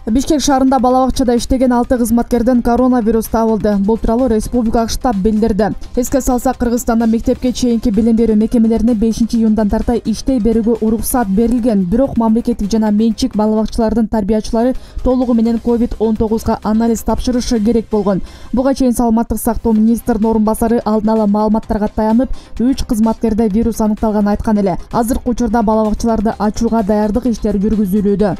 Бишкек шаарында бала бакчада иштеген 6 кызматкерден коронавирус табылды. Бул тууралуу республикалык штаб билдирди. Эске салсак, Кыргызстанда мектепке чейинки билим берүү мекемелерине 5-июндан тарта иштей берүүгө уруксат берилген. Бирок мамлекеттик жана менчик бала бакчалардын тарбиячылары толугу менен COVID-19 анализ тапшырышы керек болгон. Буга чейин Саламаттык сактоо министринин орун басары алдын ала маалыматтарга таянып, 3 кызматкерде вирус аныкталганын айткан эле. Азыркы учурда бала бакчаларды ачууга даярдык иштери жүргүзүлүүдө.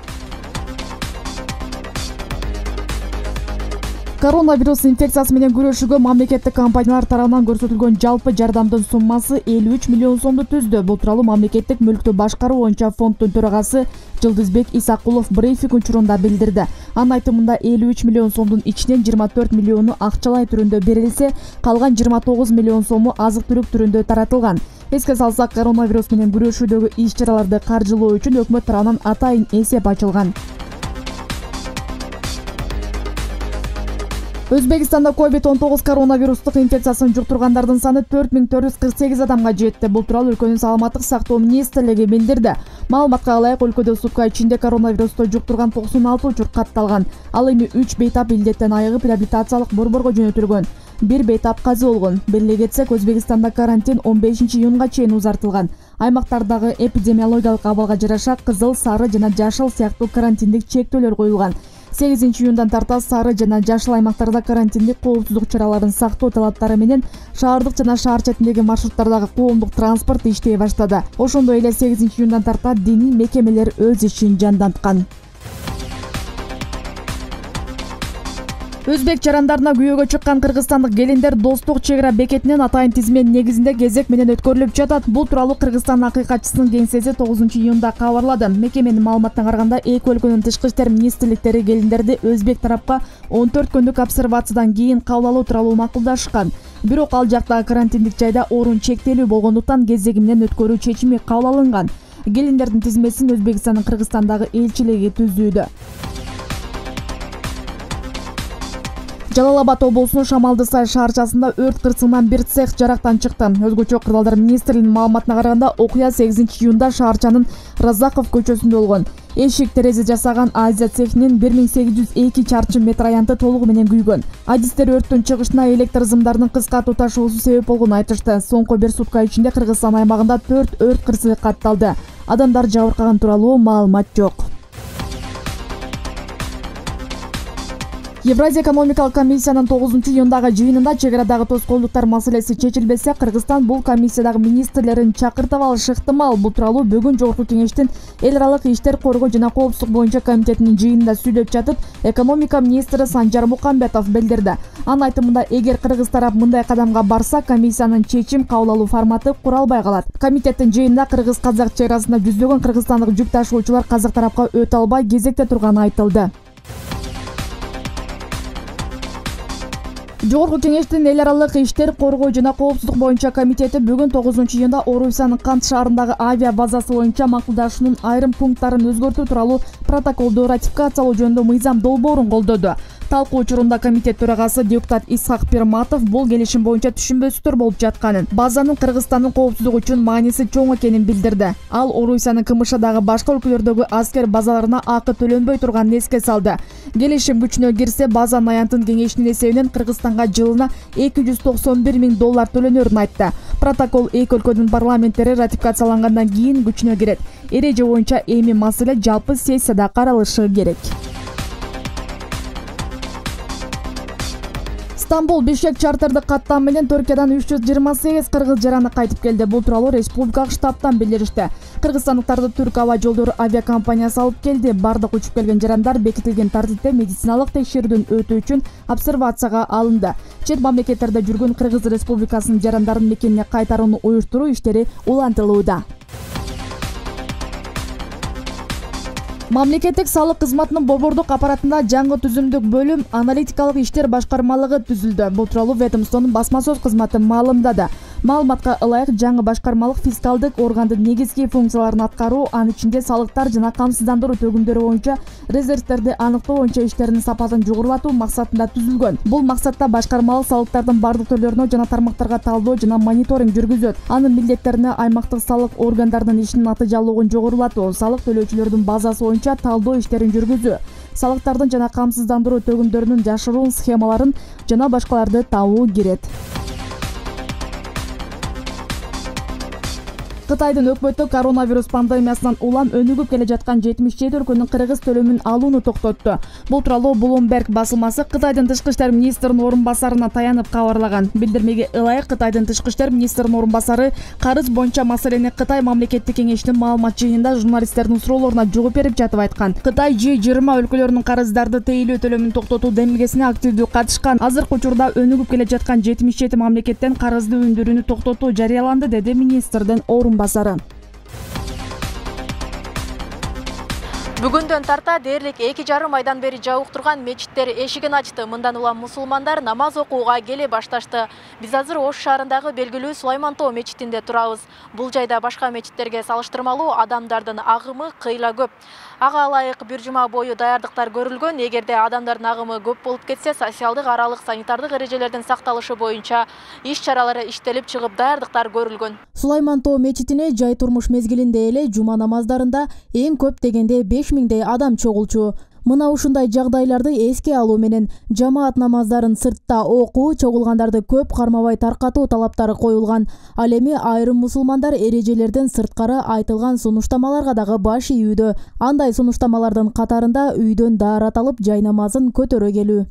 Коронавирус инфекциясы менен күрөшүүгө мамлекеттик компаниялар тарабынан көрсөтүлгөн жалпы жардамдын суммасы 53 миллион сомду түздү. Бул тууралуу мамлекеттик мүлктү башкаруу боюнча фонддун төрагасы Жылдызбек Исакулов брифинг учурунда билдирди. Анын айтымында 53 миллион сомдун ичинен 24 миллиону акчалай түрүндө берилсе, калган 29 миллион сому азык-түлүк түрүндө таратылган. Эске салсак, коронавирус менен күрөшүүдөгү иш-чараларды каржылоо үчүн өкмөт тарабынан атайын эсеп ачылган. Өзбекстанда COVID-19 коронавирустук инфекциясын жуктургандардын саны 4448 адамга жетти. Бул тууралуу өлкөнүн саламаттык сактоо министрлиги билдирди. Маалыматка ылайык, өлкөдө сутка ичинде коронавирусту жуктурган 96 учур катталган. Ал эми 3 бейтап илдеттен айыгып реабилитациялык борборго жөнөтүлгөн. 1 бейтап казы болгон. Белгилей кетсек, Өзбекстанда карантин 15-июнга чейин узартылган. Аймактардагы эпидемиологиялык абалга жараша кызыл, сары жана жашыл сыяктуу карантиндик чектөөлөр коюлган. 8-июндан тарта сары жана жашыл аймактарда карантиндик коопсуздук чараларын сактоо талаптары менен шаардык жана шаар четиндеги маршруттардагы коомдук транспорт иштей баштады. Ошондой эле 8-июндан тарта диний мекемелер өз ишин жанданткан. Өзбек жарандарына күйөөгө чыккан кыргызстандык келиндер Достук чек ара бекетинен атайын тизме негизинде кезек менен өткөрүлүп жатат. Бул тууралуу Кыргызстан акыйкатчысынын кеңсеси 9-июнда кабарлады. Мекеменин маалыматына караганда, эки өлкөнүн тышкы иштер министрликтери келиндерди өзбек тарапка 14 күндүк обсервациядан кийин кабыл алуу тууралуу макулдашкан. Бирок ал жактагы карантиндик жайда орун чектелүү болгондуктан кезеги менен өткөрүү чечими кабыл алынган. Келиндердин тизмесин Өзбекстандын Кыргызстандагы элчилиги түзүүдө. Жалал Абад облусунун Шамалды Сай шаарчасында өрт кырсыгынан бир цех жарактан чыкты. Өзгөчө кырдаалдар министрлигинин маалыматына караганда, окуя 8-июнда шаарчанын Разаков көчөсүндө болгон. Эшик терезе жасаган Азия цехинин 1802 чарчы метр аянты толугу менен күйгөн. Адистер өрттүн чыгышына электр сымдарынын кыска туташуусу себеп болгонун айтышты. Соңку бир сутка ичинде Кыргызстан аймагында 4 өрт кырсыгы катталды. Адамдар жабыркаган тууралуу маалымат жок. Евразия экономикалык комиссиянын 9-июндагы жыйынында чек арадагы тоскоолдуктар маселеси чечилбесе, Кыргызстан бул комиссиядагы министрлерин чакыртып алышы ыктымал. Бул тууралуу бүгүн Жогорку Кеңештин эл аралык иштер коргоо жана коопсуздук боюнча комитетинин жыйынында сүйлөп жатып, экономика министри Санжар Мукамбетов билдирди. Анын айтымында, эгер кыргыз тарап мындай кадамга барса, комиссиянын чечим кабыл алуу форматы куралбай калат. Комитеттин жыйынында кыргыз-казак чек арасында жүздөгөн кыргызстандык жүк ташуучулар казак тарапка өтө албай кезекте турганы айтылды. Жогорку Кеңештин эл аралык иштер коргоо жана коопсуздук боюнча комитети бүгүн 9-июнда Орусиянын Кант шаарындагы авиа базасы боюнча макулдашуунун айрым пункттарын өзгөртүү тууралуу протоколду ратификациялоо жөнүндө мыйзам долбоорун колдоду. Талкуу учурунда комитет төрагасы депутат Исхак Пирматов бул келишим боюнча түшүнбөстүктөр болуп жатканын, базанын Кыргызстандын коопсуздугу үчүн мааниси чоң экенин билдирди. Ал Орусиянын КМШдагы башка өлкөлөрдөгү аскер базаларына акы төлөнбөй турганын эске салды. Келишим күчүнө кирсе, базанын аянтын кеңейишинин эсебинен Кыргызстанга жылына $291 миң төлөнөрүн айтты. Протокол эки өлкөнүн парламенттери ратификациялангандан кийин күчүнө кирет. Эреже боюнча эми маселе жалпы сессияда каралышы керек. Стамбул Бишкек чартердик каттам менен Түркиядан 328 кыргыз жараны кайтып келди. Бул тууралуу республикалык штабтан билдиришти. Кыргызстандыктарды Түрк аба жолдору авиакомпаниясы алып келди. Бардык учуп келген жарандар бекитилген тартипте медициналык текшерүүдөн өтүү үчүн обсервацияга алынды. Чет мамлекеттерде жүргөн Кыргыз Республикасынын жарандарын мекенине кайтарууну уюштуруу иштери улантылууда. Мамлекеттик салык кызматынын борбордук аппаратында жаңы түзүмдүк бөлүм аналитикалык иштер башкармалыгы түзүлдү. Бул тууралуу ведомствонун басма сөз кызматы маалымдады. Маалыматка ылайык, жаңы башкармалык фискалдык органдын негизги функцияларын аткаруу, анын ичинде салыктар жана камсыздандыруу төгүмдөрү боюнча резервтерди аныктоо боюнча иштердин сапатын жогорулатуу максатында түзүлгөн. Бул максатта башкармалык салыктардын бардык түрлөрүнө жана тармактарга талдоо жана мониторинг жүргүзөт. Анын милдеттерине аймактык салык органдарынын ишинин натыйжалуулугун жогорулатуу, салык төлөөчүлөрдүн базасы боюнча талдоо иштерин жүргүзүү, салыктардын жана камсыздандыруу төгүмдөрүнүн жашыруун схемаларын жана башкаларды табуу кирет. Кытайдын өкмөтү коронавирус пандемиясынан улам өнүгүп келе жаткан 77 өлкөнүн кыргыз төлөмүн алууну токтотту. Бул тууралуу Bloomberg басылмасы Кытайдын тышкы иштер министринин орун басарына таянып кабарлаган. Билдирмеге ылайык Кытайдын тышкы иштер министринин орун басары карыз боюнча маселени Кытай мамлекеттик кеңешинин маалымат жыйынында журналисттердин суроолоруна жооп берип жатып айткан. Кытай G20 өлкөлөрүнүн карыздарды тейлөө төлөмүн токтотуу демилгесине активдүү катышкан. Азыркы учурда өнүгүп келе жаткан 77 мамлекеттен карызды өндүрүүнү токтотуу жарыяланды, деди министрдин орун басары. Бүгүндөн тарта дээрлик 2,5 айдан бери жабык турган мечиттер эшигин ачты. Мындан улам мусулмандар намаз окууга келе башташты. Биз азыр Ош шаарындагы белгилүү Сулайман Тоо мечитинде турабыз. Бул жайда башка мечиттерге салыштырмалуу адамдардын агымы кыйла көп. Ага ылайык бир жума бою даярдыктар көрүлгөн. Эгерде адамдардын агымы көп болуп кетсе, социалдык аралык санитардык эрежелердин сакталышы боюнча иш-чаралары иштелип чыгып даярдыктар көрүлгөн. Сулайман Тоо мечитине жай турмуш мезгилинде эле жума намаздарында эң көп дегенде 5000 адам чогулчу. Мына ушундай жагдайларды эске алуу менен жамаат намаздарын сыртта окуу, чогулгандарды көп кармабай таркатуу талаптары коюлган. Ал эми айрым мусулмандар эрежелерден сырткары айтылган сунуштамаларга дагы баш ийүүдө. Андай сунуштамалардын катарында үйдөн даарат алып, жай намазын көтөрө келүү.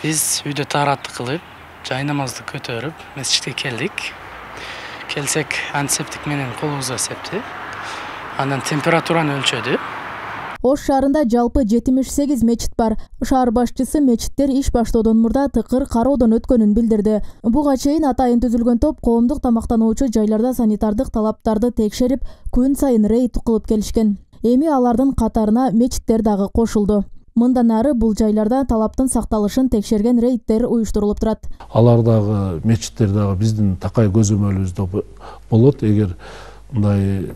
Биз үйдө таарат кылып, жай намазды көтөрүп, месчитке келдик. Келсек, антисептик менен колубузга септи. Андан температураны өлчөдү. Ош шаарында жалпы 78 мечит бар. Шаар башчысы мечиттер иш баштоодон мурда тыкыр кароодон өткөнүн билдирди. Буга чейин атайын түзүлгөн топ коомдук тамактануучу жайларда санитардык талаптарды текшерип, күн сайын рейд кылып келишкен. Эми алардын катарына мечиттер дагы кошулду. Мындан ары бул жайларда талаптын сакталышын текшерген рейдтер уюштурулуп турат. Алар дагы мечиттер дагы биздин такай көзөмөлүбүздө болот. Эгер мындай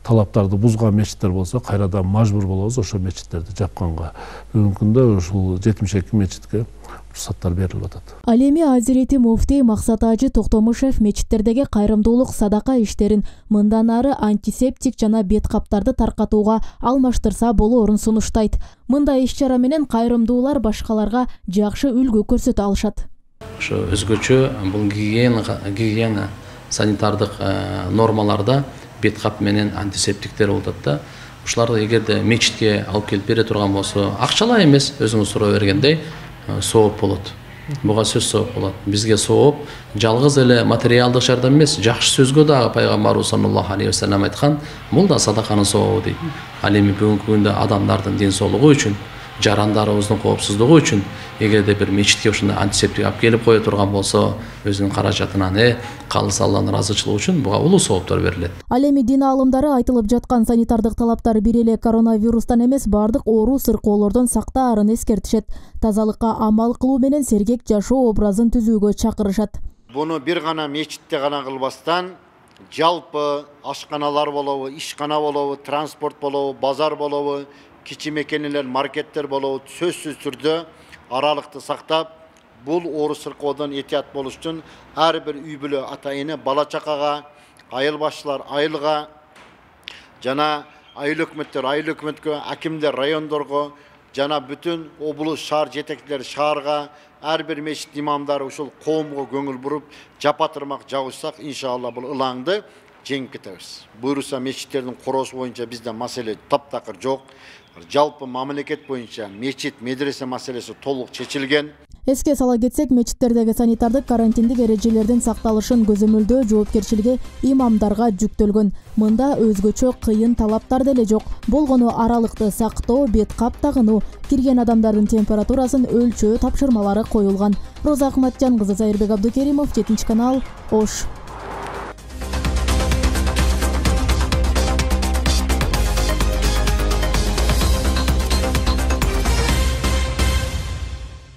талаптарды бузган мечиттер болсо, кайрадан мажбур болобуз ошо мечиттерди жапканга. Бүгүнкү күндө ушул 72 мечитке уруксаттар берилип атат. Ал эми Азирети муфтий Максат Ажы Токтомушев мечиттердеги кайрымдуулук садака иштерин мындан ары антисептик жана бет каптарды таркатууга алмаштырса болоорун сунуштайт. Мындай иш-чара менен кайрымдуулар башкаларга жакшы үлгү көрсөтө алышат. Ошо өзгөчө бул гигиена санитардык нормаларда бет кап менен антисептиктер болуп атат да. Ушуларды эгерде мечитке алып келип бере турган болсо, акчалай эмес, өзүңүз суроо бергендей сооп болот. Буга сөз сооп болот. Бизге сооп жалгыз эле материалдык жардам эмес, жакшы сөзгө дагы пайгамбарыбыз саллаллаху алейхи вассалам айткан, бул да садаканын сообу дейт. Ал эми бүгүнкү күндө адамдардын ден соолугу үчүн, жарандарыбыздын коопсуздугу үчүн эгерде бир мечитке ушундай антисептик алып келип кое турган болсо, өзүнүн каражатынан калыс Алланын ыраазычылыгы үчүн буга улуу сооптор берилет. Ал эми дин аалымдары айтылып жаткан санитардык талаптар бир эле коронавирустан эмес, бардык оору сыркоолордон сактаарын эскертишет. Тазалыкка амал кылуу менен сергек жашоо образын түзүүгө чакырышат. Буну бир гана мечитте гана кылбастан, жалпы ашканалар болобу, ишкана болобу, транспорт болобу, базар болобу, кичи мекенелер, маркеттер болобу, сөзсүз түрдө аралыкты сактап, бул оору сыркоодон этият болуш үчүн ар бир үй бүлө ата-эне бала чакага, айыл башчылар айылга жана айыл өкмөттөр айыл өкмөткө, акимдер райондорго жана бүтүн облус шаар жетекчилери шаарга, ар бир мечит имамдары ушул коомго көңүл буруп, жапа-тырмак жабышсак, иншалла бул ылаңды жеңип кетебиз. Буюрса мечиттердин короосу боюнча бизде маселе таптакыр жок. Жалпы мамлекет боюнча мечит, медресе маселеси толук чечилген. Эске сала кетсек, мечиттердеги санитардык карантиндик эрежелердин сакталышын көзөмөлдөө жоопкерчилиги имамдарга жүктөлгөн. Мында өзгөчө кыйын талаптар деле жок. Болгону аралыкты сактоо, бет кап тагынуу, кирген адамдардын температурасын өлчөө тапшырмалары коюлган. Роза Акматжан кызы, Сайырбек Абдукеримов, 7 канал, Ош.